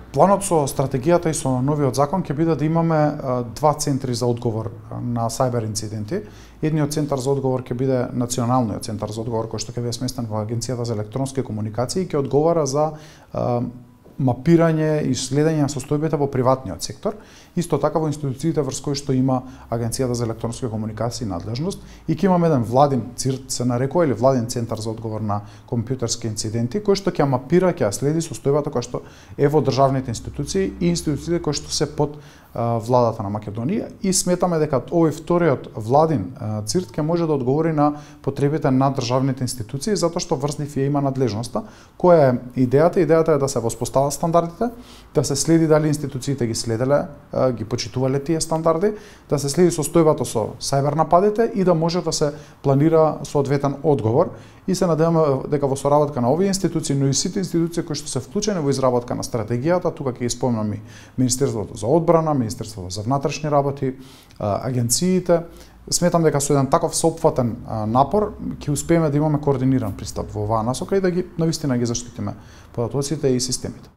Планот со стратегијата и со новиот закон ќе биде да имаме два центри за одговор на сајбер инциденти. Едниот центар за одговор ќе биде националниот центар за одговор кој што ќе биде сместен во Агенцијата за електронски комуникации и ќе одговара за мапирање и следење на состојбите во приватниот сектор, исто така во институциите врз кои што има Агенцијата за електронски комуникации надлежност и ќе имаме еден владин ЦИРТ се нарекува или владин центар за одговор на компјутерски инциденти кој што ќе мапира, ќе следи состојбата која што е во државните институции и институциите кои што се под владата на Македонија и сметаме дека овој вториот владин ЦИРТ ќе може да одговори на потребите на државните институции затоа што врз нив ја има надлежноста. Која е идејата? Идејата е да се воспостават стандардите, да се следи дали институциите ги следеле, ги почитувале тие стандарди, да се следи состојбата со сајбер нападите и да може да се планира соодветен одговор. И се надеваме дека во соработка на овие институции, но и сите институции кои што се вклучени во изработка на стратегијата, тука ќе ги спомнам и Министерството за одбрана, Министерството за внатрешни работи, агенциите, сметам дека со еден таков сеопфатен напор ќе успееме да имаме координиран пристап во оваа насока и да ги навистина ги заштитиме податоците и системите.